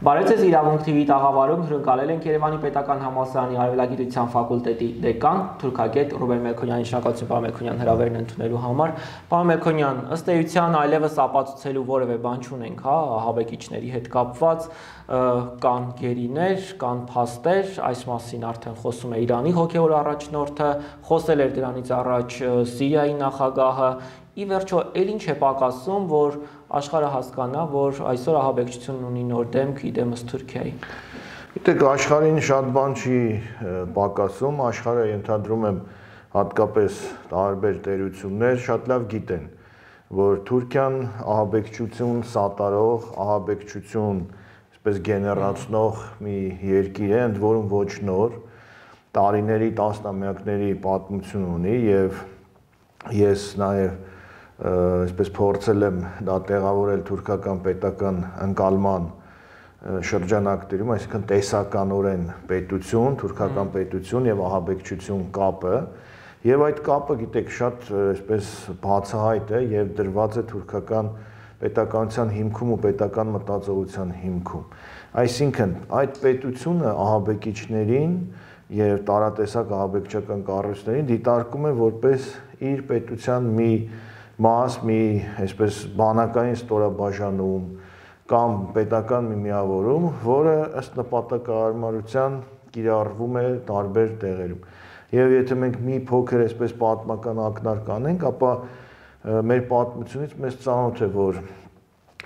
Բարև ձեզ, Իրավունք TV տաղավարում հյուրընկալել ենք Երևանի Պետական Համալսարանի Արևելագիտության ֆակուլտետի դեկան, թուրքագետ Ռուբեն Մելքոնյանի, շնորհակալություն պարոն Մելքոնյան հրավերն ընդունելու համար։ Պարոն Մելքոնյան, ըստ էության այլևս ապացուցելու որևէ բան չունենք, հա, ահաբեկիչների հետ կապված կան գերիներ, կան փաստեր, այս մասին արդեն խոսում է Իրանի հոգևոր առաջնորդը, խոսել էր դրանից առաջ Սիրիայի նախագահը։ Ի վերջո, էլ ինչ է պակասում, որ աշխարհը հասկանա, որ այսօր ահաբեկչությունն ունի նոր դեմք, իդեմս Թուրքիայի։ Գիտեք, աշխարհին շատ բան չի պակասում, աշխարհը ենթադրում եմ հատկապես տարբեր տերություններ շատ լավ գիտեն, որ Թուրքիան ահաբեկչություն սատարող, ահաբեկչություն այսպես գեներացնող մի երկիր է, ընդ որում ոչ նոր, տարիների, տասնամյակների պատմություն ունի եւ ես նաեւ այսպես փորձել եմ դա տեղավորել թուրքական պետական ընկալման շրջանակներում, այսինքն տեսականորեն պետություն, թուրքական պետություն եւ ահաբեկչություն կապը, եւ այդ կապը, գիտեք, շատ այսպես բացահայտ է եւ դրված է թուրքական պետականության հիմքում ու պետական մտածողության հիմքում։ Այսինքն այդ պետությունը ահաբեկիչներին եւ տարատեսակ ահաբեկչական կառույցներին դիտարկում է որպես իր պետության մի մաս, մի այսպես բանակային ստորաբաժանում կամ պետական մի միավորում, որը ըստ նպատակահարմարության կիրառվում է տարբեր տեղերում։ Եվ եթե մենք մի փոքր այսպես պատմական ակնարկ անենք, ապա մեր պատմությունից մեզ ծանոթ է, որ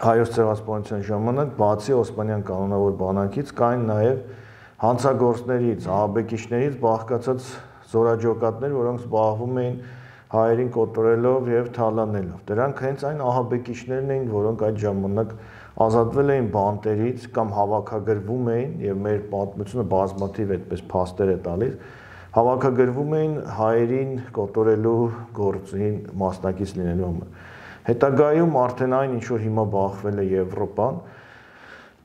հայոց ցեղասպանության ժամանակ բացի Օսմանյան կանոնավոր բանակից կային նաև հանցագործներից, ահաբեկիչներից բաղկացած զորաջոկատներ, որոնք զբաղվում էին հայերին կոտորելով եւ թալանելով։ Դրանք հենց այն ահաբեկիչներն էին, որոնք այդ ժամանակ ազատվել էին բանտերից կամ հավաքագրվում էին, եւ մեր պատմությունը բազմաթիվ այդպես փաստեր է տալիս, հավաքագրվում էին հայերին կոտորելու գործին մասնակից լինելու համար։ Հետագայում արդեն այն, ինչ որ հիմա բախվել է Եվրոպան,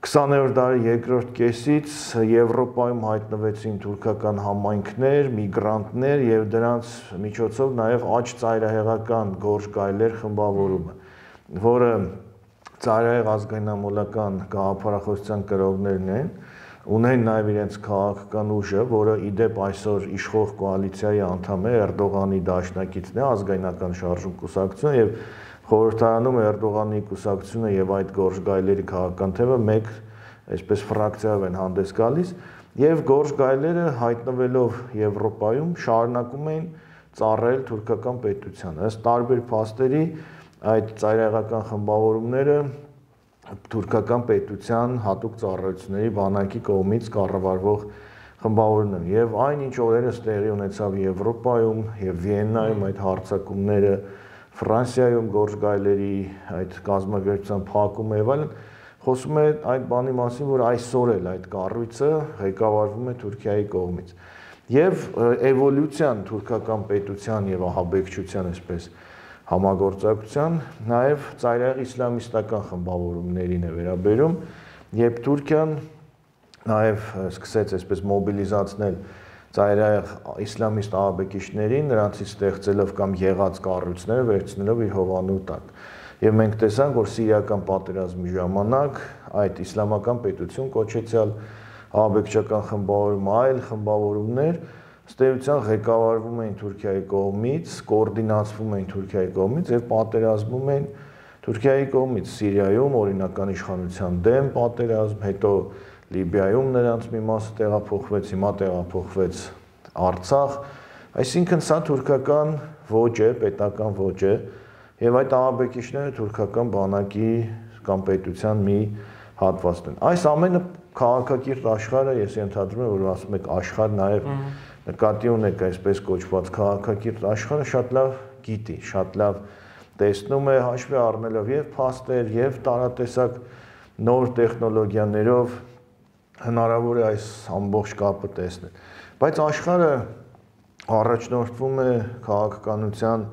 20-րդ դարի երկրորդ կեսից Եվրոպայում հայտնվեցին թուրքական համայնքներ, միգրանտներ եւ դրանց միջոցով նաեւ աջ ծայրահեղական Գորժ Գայլեր խմբավորումը, որը ծայրահեղ ազգայնամոլական գաղափարախոսության կրողներն են, ունեն նաեւ իրենց քաղաքական ուժը, որը իդեպ այսօր իշխող կոալիցիայի անդամ է, Էրդողանի դաշնակիցն է, ազգայնական շարժում կուսակցությունը եւ խորհրդարանում Էրդողանի կուսակցությունը եւ այդ Գորժ Գայլերի քաղաքական թևը մեկ այսպես ֆրակցիայով են հանդես գալիս եւ Գորժ Գայլերը հայտնվելով Եվրոպայում շարունակում էին ծառայել թուրքական պետությանը։ Ըստ տարբեր փաստերի այդ ծայրահեղական խմբավորումները թուրքական պետության հատուկ ծառայությունների բանակի կողմից կառավարվող խմբավորումներ եւ այն ինչ օրերս տեղի ունեցավ Եվրոպայում եւ Վիեննայում այդ հարձակումները, Ֆրանսիայում Գորժ Գայլերի այդ կազմակերպության փակումը եւ այլն, խոսում է այդ բանի մասին, որ այսօր էլ այդ կառույցը ղեկավարվում է Թուրքիայի կողմից։ Եվ էվոլյուցիան թուրքական պետության եւ ահաբեկչության այսպես համագործակցության նաեւ ծայրահեղ իսլամիստական խմբավորումներին է վերաբերում, երբ Թուրքիան նաեւ սկսեց այսպես մոբիլիզացնել ծայրահեղ իսլամիստ ահաբեկիչներին, նրանցից ստեղծելով կամ եղած կառույցները վերցնելով իր հովանու տակ։ Եվ մենք տեսանք, որ Սիրիական պատերազմի ժամանակ այդ իսլամական պետություն կոչեցյալ ահաբեկչական խմբավորումը, այլ խմբավորումներ ըստ էության ղեկավարվում էին Թուրքիայի կողմից, կոորդինացվում էին Թուրքիայի կողմից եւ պատերազմում էին Թուրքիայի կողմից Սիրիայում օրինական իշխանության դեմ պատերազմ, հետո Լիբիայում նրանց մի մասը տեղափոխվեց, հիմա տեղափոխվեց Արցախ, այսինքն սա թուրքական ոճ է, պետական ոճ է, եւ այդ ահաբեկիչները թուրքական բանակի կամ պետության մի հատվածն են։ Այս ամենը քաղաքակիրթ աշխարհը, ես ենթադրում եմ, որ ասում եք աշխարհ, նաեւ նկատի ունեք այսպես կոչված քաղաքակիրթ աշխարհը շատ լավ գիտի, շատ լավ տեսնում է, հաշվի առնելով եւ փաստեր, եւ տարատեսակ նոր տեխնոլոգիաներով հնարավոր է այս ամբողջ կապը տեսնել։ Բայց աշխարհը առաջնորդվում է քաղաքականության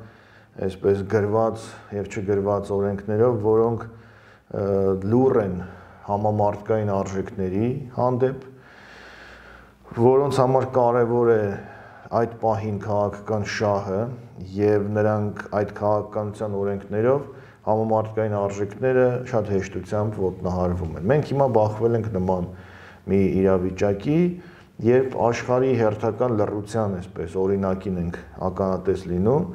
այսպես գրված եւ չգրված օրենքներով, որոնք լուռ են համամարտկային արժեքների հանդեպ, որոնց համար կարևոր է այդ պահին քաղաքական շահը եւ նրանք այդ քաղաքականության օրենքներով համամարտկային արժեքները շատ հեշտությամբ ոտնահարվում են։ Մենք հիմա բախվել ենք նման մի իրավիճակի, երբ աշխարհի հերթական լռության այսպես օրինակին ենք ականատես լինում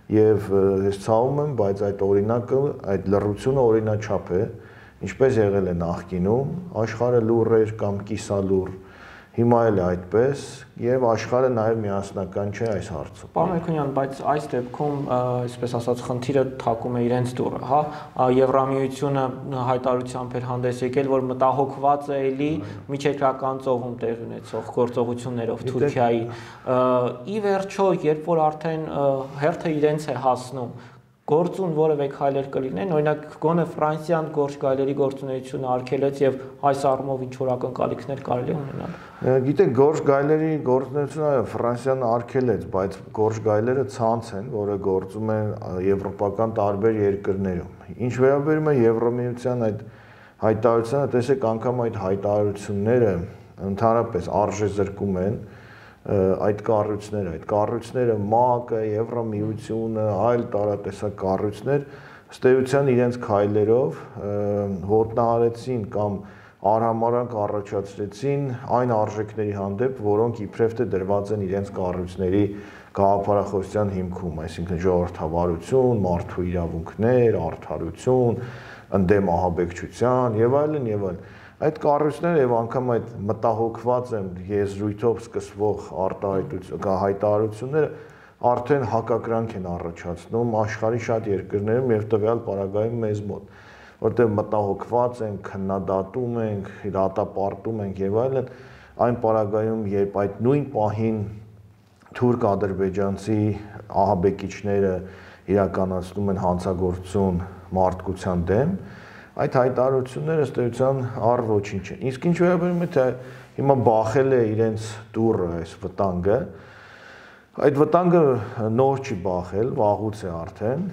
եւ ես ցավում եմ, բայց այդ օրինակը, այդ լռությունը օրինաչափ է, ինչպես եղել է նախկինում, աշխարհը լուռ էր կամ կիսալուռ, հիմա էլ է այդպես եւ աշխարհը նաեւ միասնական չէ այս հարցում։ Պարոն Մելիքոնյան, բայց այս դեպքում, այսպես ասած, խնդիրը թակում է իրենց դուռը, հա, Եվրամիությունը հայտարարությամբ էր հանդես եկել, որ մտահոգված է էլի միջերկրական ծովում տեղի ունեցող գործողություններով Թուրքիայի։ Ի վերջո, երբ որ արդեն հերթը իրենց է հասնում, գործուն որևէ քայլեր կլինեն, օրինակ գոնե Ֆրանսիան գործ գայլերի գործունեությունը արգելեց եւ այս առումով ինչ որ ակնկալիքներ կարելի է ունենալ։ Գիտեք, գործ գայլերի գործունեությունը Ֆրանսիան արգելեց, բայց գործ գայլերը ցանց են, որը գործում է եվրոպական տարբեր երկրներում։ Ինչ վերաբերում է Եվրամիության այդ հայտարարությանը, տեսեք, անգամ այդ հայտարարությունները ընդհանրապես արժեզրկում են այդ կառույցները ՄԱԿ-ը, Եվրամիությունը, այլ տարատեսակ կառույցներ ըստ էության իրենց քայլերով ոտնահարեցին կամ արհամարհանք առաջացրեցին այն արժեքների հանդեպ, որոնք իբրև թե դրված են իրենց կառույցների գաղափարախոսության հիմքում, այսինքն ժողովրդավարություն, մարդու իրավունքներ, արդարություն, ընդդեմ ահաբեկչության եւ այլն եւ այլն։ Այդ կառույցները եւ անգամ այդ մտահոգված են եզրույթով սկսվող հայտարարությունները արդեն հակակրանք են առաջացնում աշխարհի շատ երկրներում եւ տվյալ պարագայում մեզ մոտ, որտեղ մտահոգված են, քննադատում ենք, դատապարտում ենք եւ այլն, այն պարագայում, երբ այդ նույն պահին թուրք-ադրբեջանցի ահաբեկիչները իրականացնում են հանցագործություն մարդկության դեմ, այդ հայտարարությունները ըստ էության առ ոչինչ են։ Իսկ ինչ վերաբերում է թե հիմա բախել է իրենց դուռը այս վտանգը, այդ վտանգը նոր չի բախել, վաղուց է արդեն,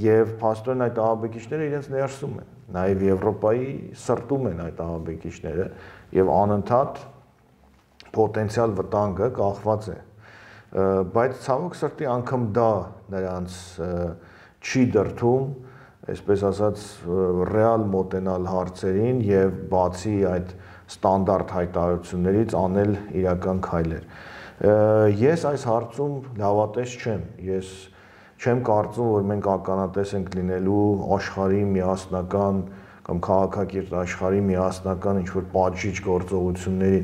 եւ փաստորեն այդ ահաբեկիչները իրենց ներսում են, նաեւ Եվրոպայի սրտում են այդ ահաբեկիչները եւ անընդհատ պոտենցիալ վտանգը կախված է։ Բայց ցավոք սրտի անգամ դա նրանց չի դրթում, այսպես ասած, ռեալ մոտենալ հարցերին եւ բացի այդ ստանդարտ հայտարարություններից անել իրական քայլեր։ Ես այս հարցում լավատես չեմ։ Ես չեմ կարծում, որ մենք ականատես ենք լինելու աշխարհի միասնական կամ քաղաքակիրթ աշխարհի միասնական ինչ-որ պատժիչ գործողությունների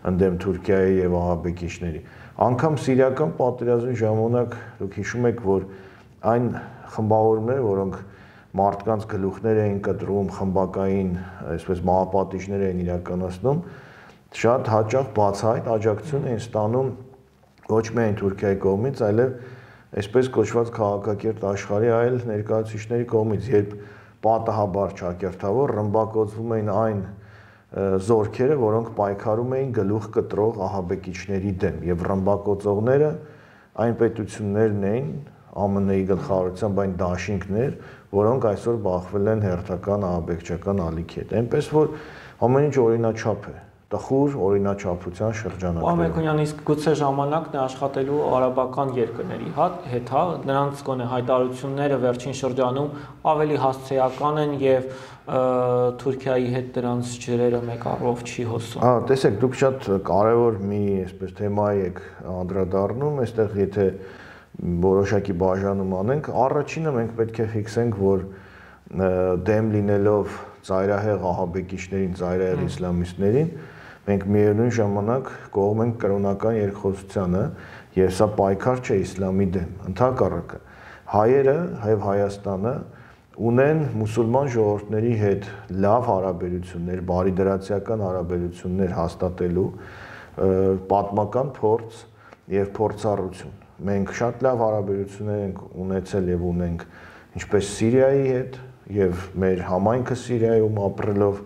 ընդդեմ Թուրքիայի եւ ահաբեկիչների։ Անկամ սիրիական պատերազմի ժամանակ դուք հիշում եք, որ այն խմբավորումները, որոնք մարդկանց գլուխներ էին կտրում, խմբակային, այսպես մահապատիժներ էին իրականացնում, շատ հաճախ բացահայտ աջակցություն էին ստանում ոչ միայն Թուրքիայի կողմից, այլև այսպես կոչված քաղաքակիրթ աշխարհի այլ ներկայացուցիչների կողմից, երբ պատահաբար ճակերտավոր ռմբակոծվում էին այն զորքերը, որոնք պայքարում էին գլուխ կտրող ահաբեկիչների դեմ, եւ ռմբակոծողները այն պետություններն էին, ԱՄՆ-ի գլխավորությամբ այն դաշինքներ, որոնք այսօր բախվել են հերթական ահաբեկչական ալիքի հետ։ Այնպես որ ամեն ինչ օրինաչափ է, տխուր օրինաչափության շրջանակներում։ Պարոն Մելիքոնյան, իսկ գուցե ժամանակն է աշխատելու արաբական երկրների հետ, հա, նրանց գոնե հայտարարությունները վերջին շրջանում ավելի հասցեական են եւ Թուրքիայի հետ դրանց ջրերը մեկ առով չի հոսում։ Հա, տեսեք, դուք շատ կարևոր մի այսպես թեմայի եք անդրադառնում, այստեղ եթե որոշակի բաժանում անենք, առաջինը մենք պետք է ֆիքսենք, որ դեմ լինելով ծայրահեղ ահաբեկիչներին, ծայրահեղ իսլամիստներին, մենք միևնույն ժամանակ կողմ ենք կրոնական երկխոսությանը, եւ սա պայքար չէ իսլամի դեմ, ընդհակառակը հայերը եւ Հայաստանը ունեն մուսուլման ժողովուրդների հետ լավ հարաբերություններ, բարիդրացիական հարաբերություններ հաստատելու պատմական փորձ եւ փորձառություն։ Մենք շատ լավ հարաբերություններ ենք ունեցել եւ ունենք ինչպես Սիրիայի հետ եւ մեր համայնքը Սիրիայում ապրելով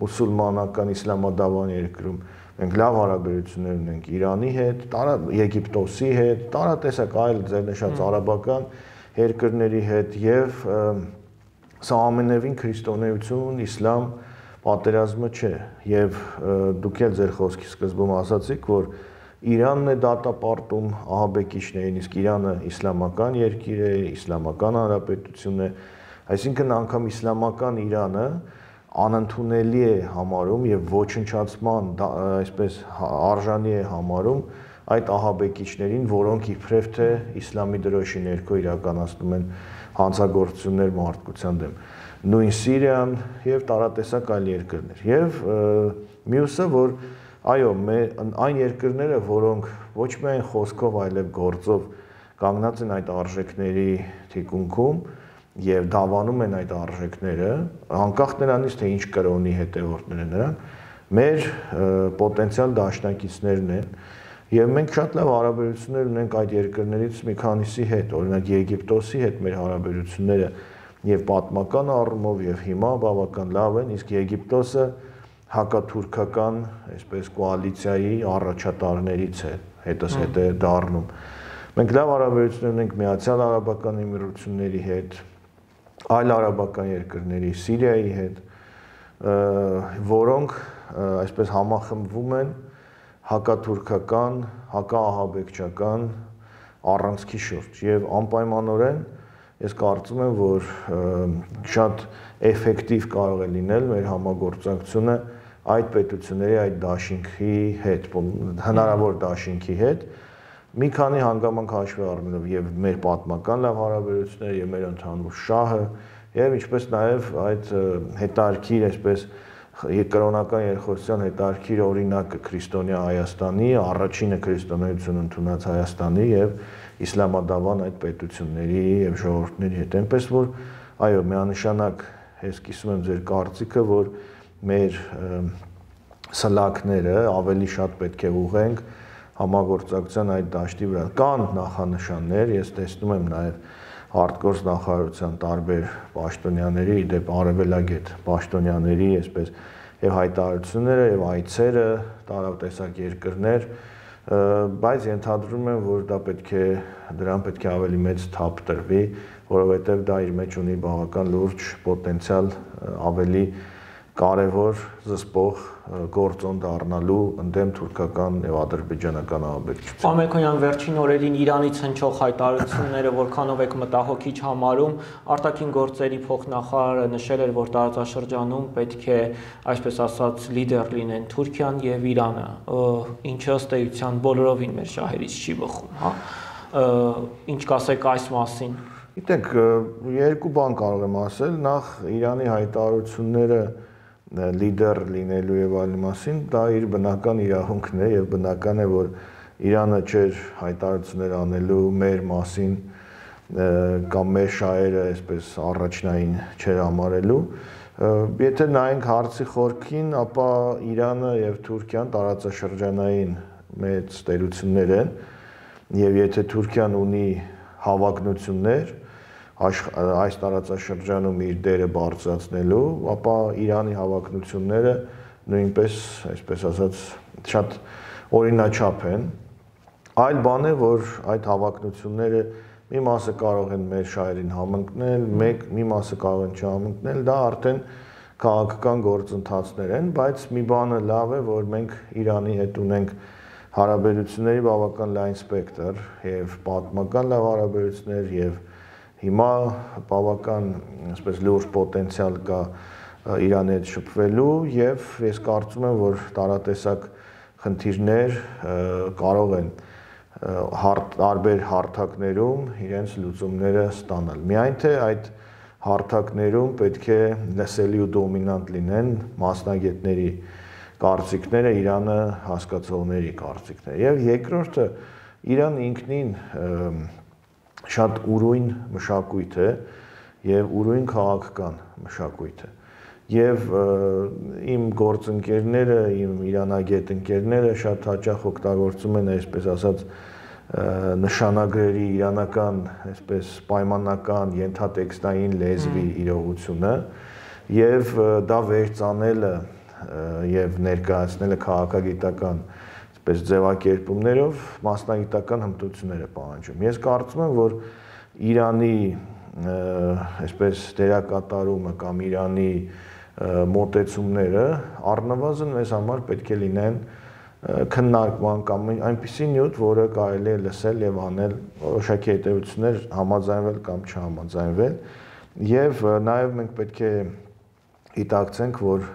մուսուլմանական իսլամադավան երկրում, մենք լավ հարաբերություններ ունենք Իրանի հետ, Եգիպտոսի հետ, տարատեսակ այլ ձեր նշած արաբական երկրների հետ եւ սա ամենևին քրիստոնեություն, իսլամ պատերազմը չէ եւ դուք էլ ձեր խոսքի սկզբում ասացիք, որ Իրանն է դատապարտում ահաբեկիչներին, իսկ Իրանը իսլամական երկիր է, իսլամական հանրապետություն է, Այսինքն անգամ իսլամական Իրանը անընդունելի է համարում եւ ոչնչացման այսպես արժանի է համարում այդ ահաբեկիչներին, որոնք իբրև թե իսլամի դրոշի ներքո իրականացնում են հանցագործություններ մարդկության դեմ։ Նույն Սիրիան եւ տարատեսակ այլ երկրներ։ Եվ մյուսը, որ այո, այն երկրները, որոնք ոչ միայն խոսքով, այլև գործով կանգնած են այդ արժեքների թիկունքում եւ դավանում են այդ արժեքները, անկախ նրանից, թե ինչ կրոնի հետևորդներ են նրանք, մեր պոտենցիալ դաշնակիցներն են։ Եվ մենք շատ լավ հարաբերություններ ունենք այդ երկրներից մի քանիսի հետ, օրինակ Եգիպտոսի հետ մեր հարաբերությունները եւ պատմական առումով եւ հիմա բավական լավ են, իսկ Եգիպտոսը հակաթուրքական, այսպես կոալիցիայի առաջատարներից է, հետը դառնում։ Մենք լավ հարաբերություններ ունենք Միացյալ Արաբական Էմիրությունների հետ, այլ արաբական երկրների, Սիրիայի հետ, որոնք այսպես համախմբվում են հակաթուրքական, հակաահաբեկչական առանցքի շուրջ եւ անպայմանորեն ես կարծում եմ, որ շատ էֆեկտիվ կարող է լինել մեր համագործակցությունը այդ պետությունների այդ դաշինքի հետ, հնարավոր դաշինքի հետ, մի քանի հանգամանք հաշվի առնելով եւ մեր պատմական լավ հարաբերությունները եւ մեր ընդհանուր շահը եւ ինչպես նաեւ այդ հետարքիր այսպես կրոնական երկխոսության հետարքիր օրինակը քրիստոնյա Հայաստանի, առաջինը քրիստոնեություն ընդունած Հայաստանի եւ իսլամադավան այդ պետությունների եւ ժողովուրդների հետ։ Այնպես որ այո, միանշանակ ես կիսում եմ ձեր կարծիքը, որ մեր սլաքները ավելի շատ պետք է ուղենք համագործակցության այդ դաշտի վրա։ Կան նախանշաններ, ես տեսնում եմ նաեւ արտգործ նախարարության տարբեր պաշտոնյաների, իդեպ արևելագետ պաշտոնյաների, այսպես եւ հայտարարությունները եւ այցերը տարատեսակ երկրներ, բայց ենթադրում եմ, որ դրան պետք է ավելի մեծ թափ տրվի, որովհետեւ դա իր մեջ ունի բավական լուրջ պոտենցիալ ավելի կարևոր զսպող գործոն դառնալու ընդդեմ թուրքական եւ ադրբեջանական ահաբեկչության։ Պարոն Մելքոնյան, վերջին օրերին Իրանից հնչող հայտարարությունները որքանով եք մտահոգիչ համարում, արտաքին գործերի փոխնախարարը նշել էր, որ տարածաշրջանում պետք է, այսպես ասած, լիդեր լինեն Թուրքիան եւ Իրանը, ինչը ըստ էության բոլորովին մեր շահերից չի բխում, հա։ Ինչ կասեք այս մասին։ Գիտեք, երկու բան կարող եմ ասել, նախ Իրանի հայտարարությունները լիդեր լինելու եւ այլն մասին, դա իր բնական իրավունքն է եւ բնական է, որ Իրանը չէր հայտարարություններ անելու մեր մասին կամ մեր շահերը այսպես առաջնային չէր համարելու։ Եթե նայենք հարցի խորքին, ապա Իրանը եւ Թուրքիան տարածաշրջանային մեծ տերություններ են եւ եթե Թուրքիան ունի հավակնություններ այս տարածաշրջանում իր դերը բարձրացնելու, ապա Իրանի հավակնությունները նույնպես, այսպես ասած, շատ օրինաչափ են։ Այլ բան է, որ այդ հավակնությունները մի մասը կարող են մեր շահերին համընկնել, մի մասը կարող են չհամընկնել, դա արդեն քաղաքական գործընթացներ են, բայց մի բանը լավ է, որ մենք Իրանի հետ ունենք հարաբերությունների բավական լայն սպեկտր եւ պատմական լավ հարաբերություններ եւ հիմա բավական, այսպես լուրջ պոտենցիալ կա Իրանի հետ շփվելու եւ ես կարծում եմ, որ տարատեսակ խնդիրներ կարող են տարբեր հարթակներում իրենց լուծումները ստանալ։ Միայն թե այդ հարթակներում պետք է լսելի ու դոմինանտ լինեն մասնագետների կարծիքները, Իրանը հասկացողների կարծիքները։ Եվ երկրորդը Իրանը ինքնին շատ ուրույն մշակույթ է եւ ուրույն քաղաքական մշակույթ է եւ իմ գործընկերները, իմ իրանագետ ընկերները շատ հաճախ օգտագործում են այսպես ասած նշանագրերի իրանական այսպես պայմանական ենթատեքստային լեզվի իրողությունը եւ դա վերծանելը եւ ներկայացնելը քաղաքագիտական այսպես ձևակերպումներով մասնագիտական հմտություններ է պահանջում։ Ես կարծում եմ, որ Իրանի այսպես դերակատարումը կամ Իրանի մոտեցումները առնվազն մեզ համար պետք է լինեն քննարկման կամ այնպիսի նյութ, որը կարելի է լսել եւ անել որոշակի հետեւություններ համաձայնվել կամ չհամաձայնվել Եվ նաև մենք պետք է գիտակցենք, որ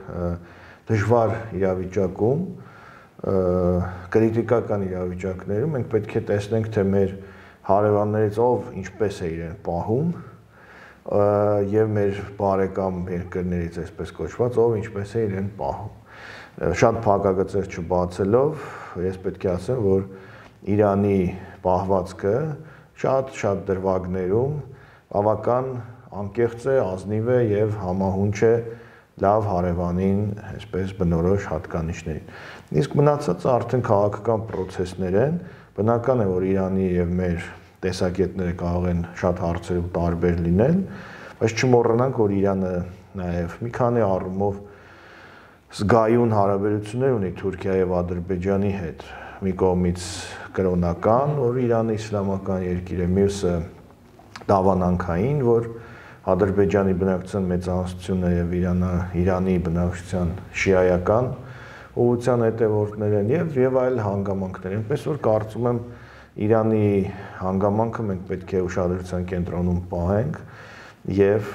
դժվար իրավիճակում, կրիտիկական իրավիճակներում մենք պետք է տեսնենք, թե մեր հարևաններից ով ինչպես է իրեն պահում եւ մեր բարեկամ երկրներից այսպես կոչված ով ինչպես է իրեն պահում։ Շատ փակագծեր չբացելով, ես պետք է ասեմ, որ Իրանի պահվածքը շատ դրվագներում բավական անկեղծ է, ազնիվ է եւ համահունչ է լավ հարևանին, այսպես բնորոշ հատկանիշներին։ Իսկ մնացածը արդեն քաղաքական process-ներ են, բնական է, որ Իրանի եւ մեր տեսակետները կարող են շատ հարցերում տարբեր լինել, բայց չմոռանանք, որ Իրանը նաեւ մի քանի առումով զգայուն հարաբերություններ ունի Թուրքիայի եւ Ադրբեջանի հետ։ Մի կողմից կրոնական, որ Իրանը իսլամական երկիր է, մյուսը դավանանքային, որ Ադրբեջանի բնակչության մեծամասնությունը եւ Իրանի բնակչության շիայական ուղղության հետևորդներ են եւ այլ հանգամանքներ։ Այնպես որ կարծում եմ Իրանի հանգամանքը մենք պետք է ուշադրության կենտրոնում պահենք եւ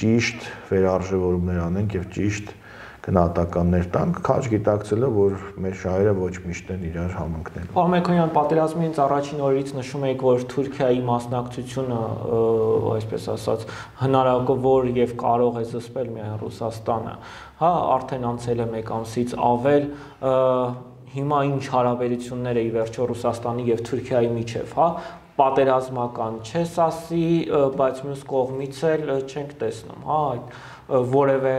ճիշտ վերարժևորումներ անենք եւ ճիշտ գնահատականներ տանք, քաջ գիտակցելով, որ մեր շահերը ոչ միշտ են իրար համընկնելու։ Պարոն Մելիքոնյան, պատերազմից առաջին օրերից նշում եք, որ Թուրքիայի մասնակցությունը, այսպես ասած, հնարավոր եւ կարող է զսպել միայն Ռուսաստանը։ Հա, արդեն անցել է 1 ամսից ավել, հիմա ինչ հարաբերություններ է ի վերջո Ռուսաստանի եւ Թուրքիայի միջեւ, հա, պատերազմական չես ասի, բայց մյուս կողմից էլ չենք տեսնում, հա, այդ որևէ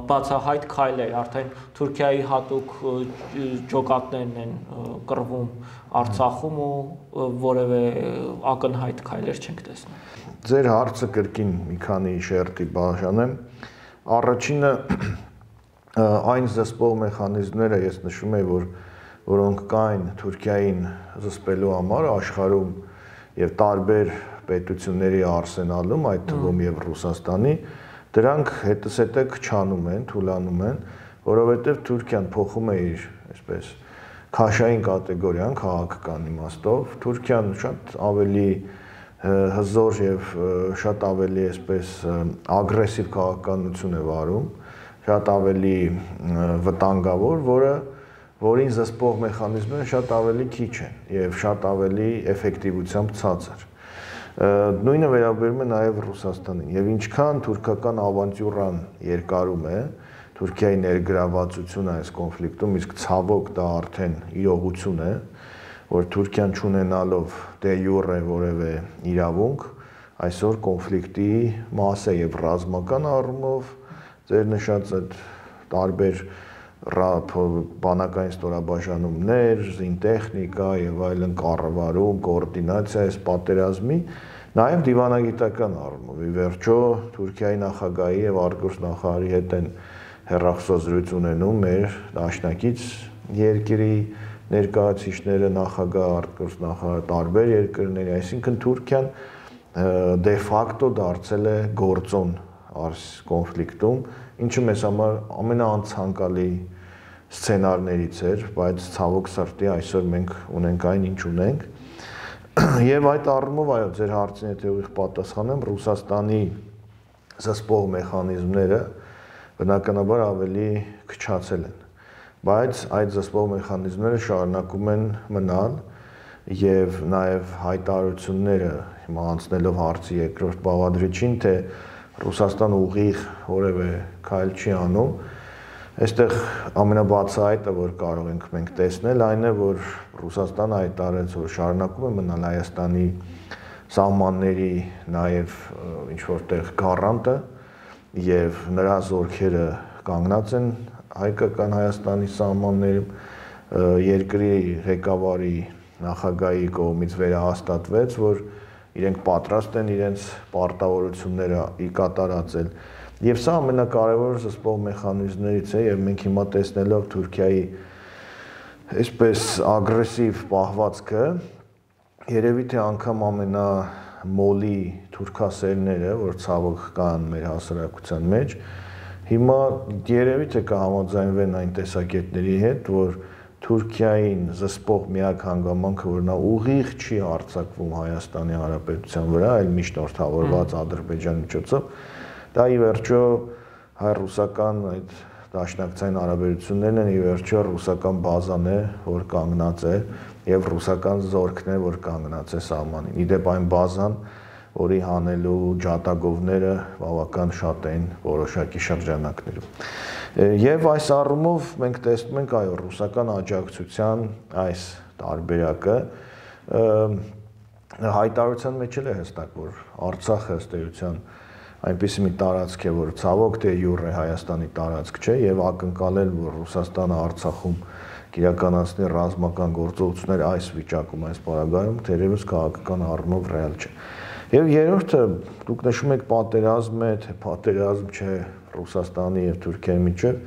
բացահայտ քայլեր, արդեն Թուրքիայի հատուկ ջոկատներն են կռվում Արցախում ու որևէ ակնհայտ քայլեր չենք տեսնում։ Ձեր հարցը կրկին մի քանի շերտի բաժանեմ։ Առաջինը այն զսպող մեխանիզմները ես նշում եմ, որոնք կային Թուրքիային զսպելու համար աշխարհում եւ տարբեր պետությունների արսենալում, այդ թվում եւ Ռուսաստանի, դրանք հետզհետե քչանում են, թուլանում են, որովհետեւ Թուրքիան փոխում է իր, այսպես, քաշային կատեգորիան քաղաքական իմաստով, Թուրքիան շատ ավելի հզոր եւ շատ ավելի, այսպես, ագրեսիվ քաղաքականություն է վարում, շատ ավելի վտանգավոր, որին զսպող մեխանիզմները շատ ավելի քիչ են եւ շատ ավելի էֆեկտիվությամբ ցածր։ Նույնը վերաբերում է նաև Ռուսաստանին եւ ինչքան թուրքական ավանտյուրան երկարում է, Թուրքիայի ներգրավվածությունը այս կոնֆլիկտում, իսկ ցավոք դա արդեն իրողություն է, որ Թուրքիան չունենալով դե յուրե որևէ իրավունք, այսօր կոնֆլիկտի մաս է եւ ռազմական առումով ձեր նշած այդ տարբեր բանակային ստորաբաժանումներ, զինտեխնիկա եւ այլն կառավարում, կոորդինացիա այս պատերազմի, նաեւ դիվանագիտական առումով։ Ի վերջո Թուրքիայի նախագահի եւ արտգործնախարարի հետ են հեռախոսազրույց ունենում մեր դաշնակից երկրի ներկայացուցիչները, նախագահ, արտգործնախարար, տարբեր երկրների, այսինքն Թուրքիան դե ֆակտո դարձել է գործոն այս կոնֆլիկտում, ինչը մեզ համար ամենաանցանկալի սցենարներից էր, բայց ցավոք սրտի այսօր մենք ունենք այն, ինչ ունենք։ Եվ այդ առումով, այո, ձեր հարցին եթե ուղիղ պատասխանեմ, Ռուսաստանի զսպող մեխանիզմները բնականաբար ավելի քչացել են, բայց այդ զսպող մեխանիզմները շարունակում են մնալ եւ նաեւ հայտարարությունները հիմա անցնելով հարցի երկրորդ բաղադրիչին, թե Ռուսաստանը ուղիղ որևէ քայլ չի անում, այստեղ ամենաբացահայտը, որ կարող ենք մենք տեսնել, այն է, որ Ռուսաստանը հայտարարեց, որ շարունակում է մնալ Հայաստանի սահմանների նաեւ ինչ որտեղ գառանտը եւ նրա զորքերը կանգնած են հայկական Հայաստանի սահմաններում, երկրի ղեկավարի նախագահի կողմից վերահաստատվեց, որ իրենք պատրաստ են իրենց պարտավորությունները կատարածել։ Եվ սա ամենակարևոր զսպող մեխանիզմներից է եւ մենք հիմա տեսնելով Թուրքիայի այսպես ագրեսիվ պահվածքը, երևի թե անգամ ամենամոլի թուրքասերները, որ ցավոք կան մեր հասարակության մեջ, հիմա երևի թե կհամաձայնվեն այն տեսակետների հետ, որ Թուրքիային զսպող միակ հանգամանքը, որ նա ուղիղ չի հարձակվում Հայաստանի Հանրապետության վրա, այլ միջնորդավորված Ադրբեջանի միջոցով, դա ի վերջո հայ-ռուսական այդ դաշնակցային հարաբերություններն են, ի վերջո ռուսական բազան է, որ կանգնած է, եւ ռուսական զորքն է, որ կանգնած է սահմանին։ Իդեպ այն բազան, որի հանելու ջատագովները բավական շատ են որոշակի շրջանակներում։ Եվ այս առումով մենք տեսնում ենք, այո, ռուսական աջակցության այս տարբերակը հայտարարության մեջ էլ է հստակ, որ Արցախը ըստ էության այնպիսի մի տարածք է, որ ցավոք թե յուր է Հայաստանի տարածք չէ, եւ ակնկալել, որ Ռուսաստանը Արցախում իրականացնի ռազմական գործողություններ այս վիճակում, այս պարագայում, թերևս քաղաքական առումով ռեալ չէ։ Եվ երրորդը, դուք նշում եք պատերազմ է, թե պատերազմ չէ Ռուսաստանի եւ Թուրքիայի միջեւ,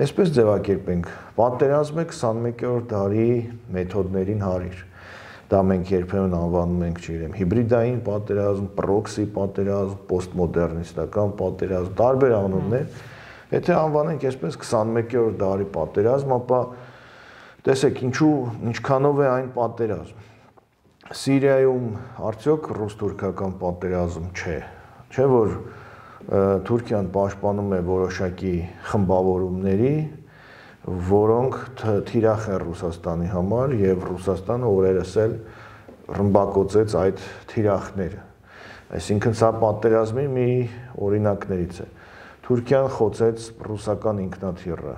այսպես ձևակերպենք, պատերազմ է 21-րդ դարի մեթոդներին հարիր։ Դա մենք երբեմն անվանում ենք, չգիտեմ, հիբրիդային պատերազմ, պրոքսի պատերազմ, պոստմոդեռնիստական պատերազմ, տարբեր անուններ։ Եթե անվանենք այսպես 21-րդ դարի պատերազմ, ապա տեսեք, ինչքանով է այն պատերազմ։ Սիրիայում արդյոք ռուս-թուրքական պատերազմ չէ, չէ՞ որ Թուրքիան պաշտպանում է որոշակի խմբավորումների, որոնք թիրախ են Ռուսաստանի համար եւ Ռուսաստանը օրերս էլ ռմբակոծեց այդ թիրախները։ Այսինքն սա պատերազմի մի օրինակներից է։ Թուրքիան խոցեց ռուսական ինքնաթիռը,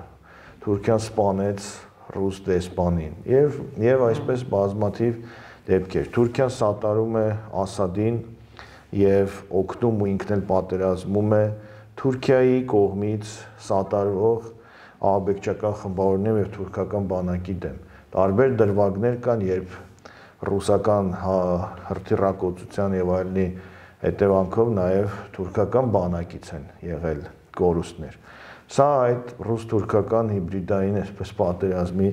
Թուրքիան սպանեց ռուս դեսպանին եւ այսպես բազմաթիվ դեպքեր։ Թուրքիան սատարում է Ասադին եւ օգնում ու ինքն էլ պատերազմում է Թուրքիայի կողմից սատարվող ահաբեկչական խմբավորումների եւ թուրքական բանակի դեմ։ Տարբեր դրվագներ կան, երբ ռուսական հրթիռակոծության եւ այլնի հետևանքով նաեւ թուրքական բանակից են եղել կորուստներ։ Սա այդ ռուս-թուրքական հիբրիդային այսպես պատերազմի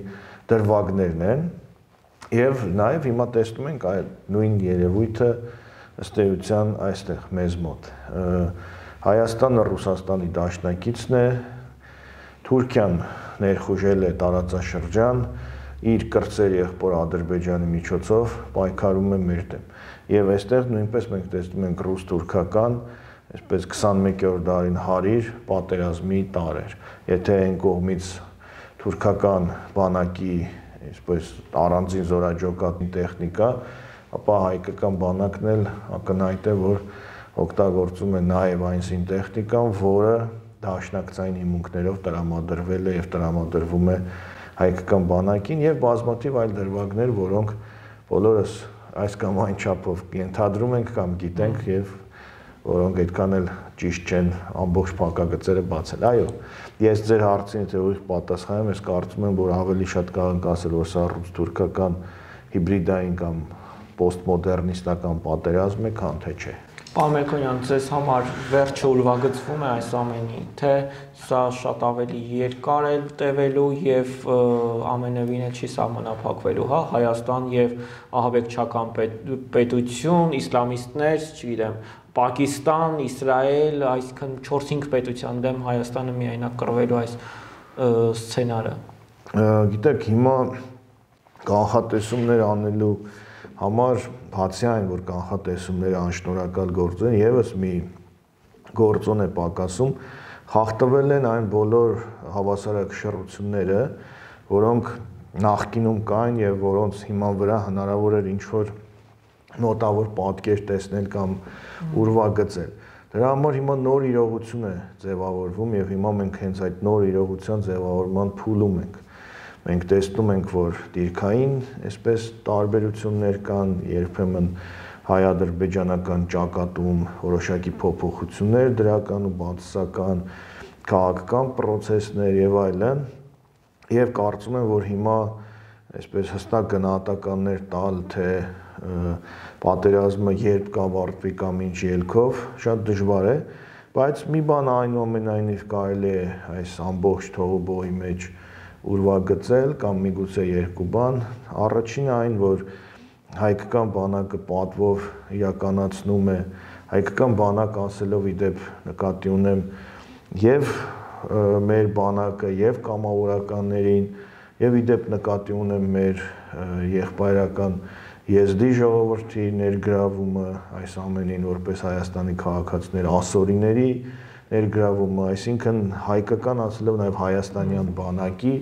դրվագներն են եւ նաեւ հիմա տեսնում ենք այդ նույն երևույթը ըստ էության այստեղ մեզ մոտ։ Հայաստանը Ռուսաստանի դաշնակիցն է, Թուրքիան ներխուժել է տարածաշրջան, իր կրտսեր եղբոր Ադրբեջանի միջոցով պայքարում է մեր դեմ։ Եվ այստեղ նույնպես մենք տեսնում ենք ռուս-թուրքական, այսպես 21-րդ դարին հարիր պատերազմի տարեր։ Եթե այն կողմից թուրքական բանակի, այսպես առանձին զորաճոկատի տեխնիկա, ապա հայկական բանակն էլ ակնհայտ է, որ օգտագործում է նաև այն զինտեխնիկան, որը դաշնակցային հիմունքներով տրամադրվել է եւ տրամադրվում է հայկական բանակին եւ բազմաթիվ այլ դրվագներ, որոնք բոլորս այս կամ այն չափով ենթադրում ենք կամ գիտենք եւ որոնք այդքան էլ ճիշտ չեն ամբողջ փակագծերը բացել։ Այո, ես ձեր հարցին թե ուղիղ պատասխանեմ, ես կարծում եմ, որ ավելի շատ կարող ենք ասել, որ սա ռուս-թուրքական հիբրիդային կամ պոստմոդեռնիստական պատերազմ է, քան թե չէ։ Պարոն Մելքոնյան, ձեզ համար վերջը ուրվագծվում է այս ամենի, թե սա շատ ավելի երկար է տևելու եւ ամենևին է չի սահմանափակվելու, հա, Հայաստան եւ ահաբեկչական պետություն, իսլամիստներ, չգիտեմ, Պակիստան, Իսրայել, այսինքն 4-5 պետության դեմ Հայաստանը միայնակ կռվելու այս սցենարը։ Գիտեք, հիմա կանխատեսումներ անելու համար բացի այն, որ կանխատեսումները անշնորհակալ գործ են, եւս մի գործոն է պակասում, խախտվել են այն բոլոր հավասարակշռությունները, որոնք նախկինում կային եւ որոնց հիման վրա հնարավոր էր ինչ-որ նոտավոր պատկեր տեսնել կամ ուրվագծել։ Դրա համար հիմա նոր իրողություն է ձևավորվում եւ հիմա մենք հենց այդ նոր իրողության ձևավորման փուլում ենք։ Մենք տեսնում ենք, որ դիրքային այսպես տարբերություններ կան, երբեմն հայ-ադրբեջանական ճակատում որոշակի փոփոխություններ դրական ու բացասական քաղաքական process-ներ եւ այլն, եւ կարծում եմ, որ հիմա այսպես հստակ գնահատականներ տալ, թե պատերազմը երբ կավարտվի կամ ինչ ելքով, շատ դժվար է, բայց մի բան այնուամենայնիվ կարելի է այս ամբողջ թողոբոյի մեջ ուրվագծել կամ միգուցե երկու բան։ Առաջինը այն, որ հայկական բանակը պատվով իրականացնում է, հայկական բանակ ասելով իդեպ նկատի ունեմ եւ մեր բանակը եւ կամավորականներին եւ իդեպ նկատի ունեմ մեր եղբայրական եզդի ժողովրդի ներգրավումը այս ամենին որպես Հայաստանի քաղաքացիներ ասորիների ներգրավումը, այսինքն հայկական ասելով նաեւ հայաստանյան բանակի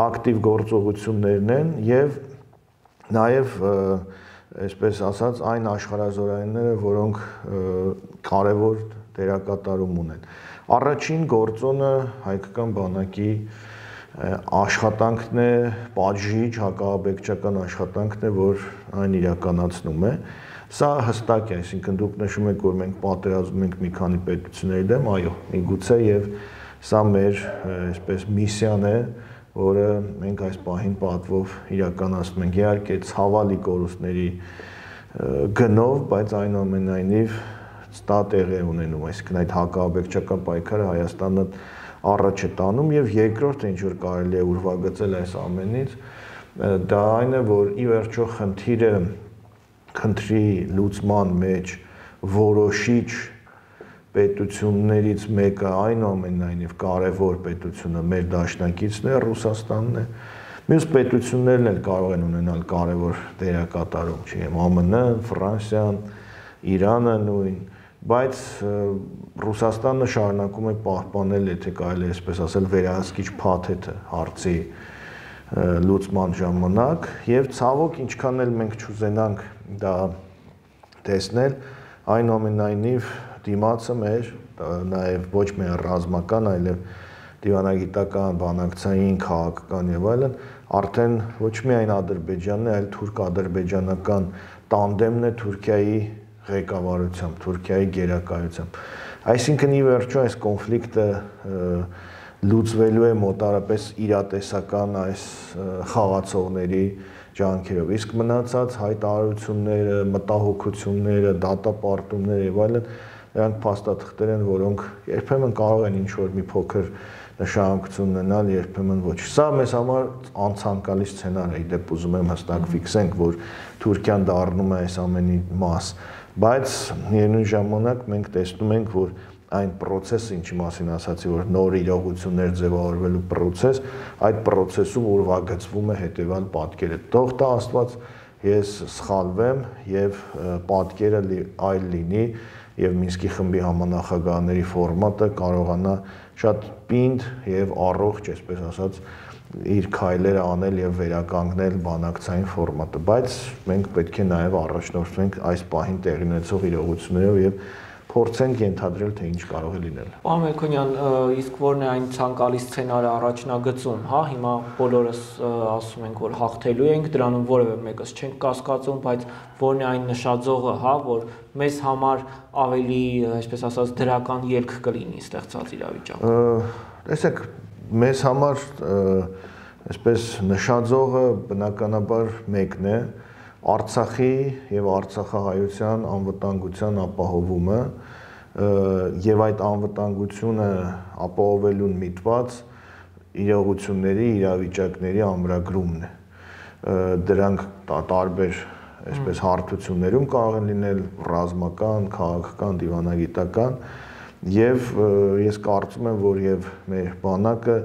ակտիվ գործողություններն են եւ նաեւ այսպես ասած այն աշխարհազորայինները, որոնք կարևոր դերակատարում ունեն։ Առաջին գործոնը հայկական բանակի աշխատանքն է, պատժիչ հակաաբեկչական աշխատանքն է, որ այն իրականացնում է։ Սա հստակ է, այսինքն դուք նշում եք, որ մենք պատերազմում ենք մի քանի պետությունների դեմ, այո, միգուցե եւ սա մեր այսպես միսիան է, որը մենք այս պահին պատվով իրականացնում ենք։ Իհարկե ցավալի կորուստների գնով, բայց այնուամենայնիվ դա տեղի է ունենում, այսինքն այդ հակաաբեկչական պայքարը Հայաստանը առաջ է տանում եւ երկրորդը ինչ որ կարելի է ուրվագծել այս ամենից, դա այն է, որ ի վերջո խնդրի լուծման մեջ որոշիչ պետություններից մեկը այնուամենայնիվ կարևոր պետությունը մեր դաշնակիցն է, Ռուսաստանն է։ Մյուս պետություններն էլ կարող են ունենալ կարևոր դերակատարում, չի ԱՄՆ-ը, Ֆրանսիան, Իրանը նույն, բայց Ռուսաստանը շարունակում է պահպանել, եթե կարելի է այսպես ասել, վերահսկիչ փաթեթը հարցի լուծման ժամանակ եւ ցավոք ինչքան էլ մենք չուզենանք դա տեսնել, այնուամենայնիվ դիմացը մեր նաեւ ոչ միայն ռազմական, այլև դիվանագիտական, բանակցային, քաղաքական եւ այլն արդեն ոչ միայն Ադրբեջանն է, այլ թուրք-ադրբեջանական տանդեմն է Թուրքիայի ղեկավարությամբ, Թուրքիայի գերակայությամբ։ Այսինքն ի վերջո այս կոնֆլիկտը լուծվելու է մոտարապես իրատեսական այս խաղացողների ջանքերով, իսկ մնացած հայտարարությունները, մտահոգությունները, դատապարտումները եւ այլն նրանք փաստաթղթեր են, որոնք երբեմն կարող են ինչ-որ մի փոքր նշանակություն ունենալ, երբեմն ոչ։ Սա մեզ համար անցանկալի սցենար է, իդեպ ուզում եմ հստակ ֆիքսենք, որ Թուրքիան դառնում է այս ամենի մաս, բայց միևնույն ժամանակ մենք տեսնում ենք, որ այն process-ը, ինչի մասին ասացի, որ նոր իրողություններ ձևավորվելու process, այդ process-ում ուրվագծվում է հետևյալ պատկերը։ Թող տա Աստված, ես սխալվեմ եւ պատկերը այլ լինի եւ Մինսկի խմբի համանախագահների ֆորմատը կարողանա շատ պինդ եւ առողջ, այսպես ասած, իր քայլերը անել եւ վերականգնել բանակցային ֆորմատը, բայց մենք պետք է նաեւ առաջնորդվենք այս պահին տեղի ունեցող իրողություններով եւ փորձենք ենթադրել, թե ինչ կարող է լինել։ Պարոն Մելքոնյան, իսկ ո՞րն է այն ցանկալի սցենարը առաջնագծում, հա, հիմա բոլորս ասում ենք, որ հաղթելու ենք, դրանում որևէ մեկս չենք կասկածում, բայց ո՞րն է այն նշաձողը, հա, որ մեզ համար ավելի, այսպես ասած, դրական ելք կլինի ստեղծած իրավիճակում։ Տեսեք, մեզ համար այսպես նշաձողը բնականաբար մեկն է, Արցախի եւ արցախահայության անվտանգության ապահովումը եւ այդ անվտանգությունը ապահովելուն միտված իրողությունների, իրավիճակների ամրագրումն է։ Դրանք տարբեր այսպես հարթություններում կարող են լինել ռազմական, քաղաքական, դիվանագիտական եւ ես կարծում եմ, որ եւ մեր բանակը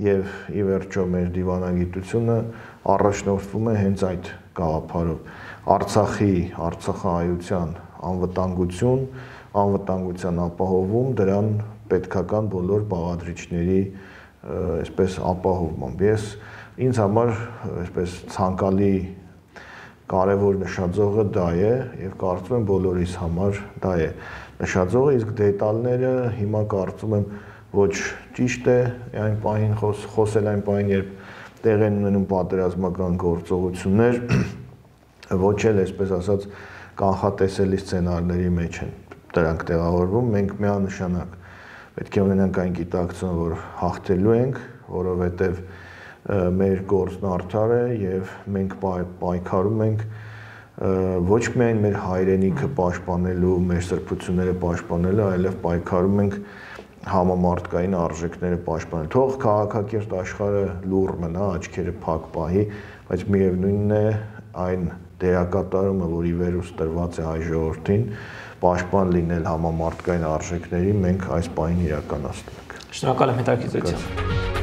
եւ ի վերջո մեր դիվանագիտությունը առաջնորդվում է հենց այդ գաղափարով Արցախի, արցախահայության անվտանգություն, անվտանգության ապահովում, դրան պետքական բոլոր բաղադրիչների այսպես ապահովմամբ։ Ես ինձ համար այսպես ցանկալի կարևոր նշաձողը դա է եւ կարծում եմ բոլորիս համար դա է նշաձողը, իսկ դետալները հիմա կարծում եմ ոչ ճիշտ է այն պահին խոսել այն պահին, երբ տեղ են ունենում պատերազմական գործողություններ, ոչ էլ այսպես ասած կանխատեսելի սցենարների մեջ են դրանք տեղավորվում, մենք միանշանակ պետք է ունենանք այն գիտակցությունը, որ հաղթելու ենք, որովհետև մեր գործն արդար է եւ մենք պայքարում ենք ոչ միայն մեր հայրենիքը պաշտպանելու, մեր սրբությունները պաշտպանելու, այլև պայքարում ենք համամարտկային արժեքները պաշտպանել։ Թող քաղաքակիրթ աշխարհը լուռ մնա, աչքերը փակ պահի, բայց միևնույնն է այն դերակատարումը, որ ի վերուս տրված է հայ ժողովրդին, պաշտպան լինել համամարտկային արժեքների, մենք այս պահին իրականացնում ենք։ Շնորհակալ եմ հետաքրքրությամբ։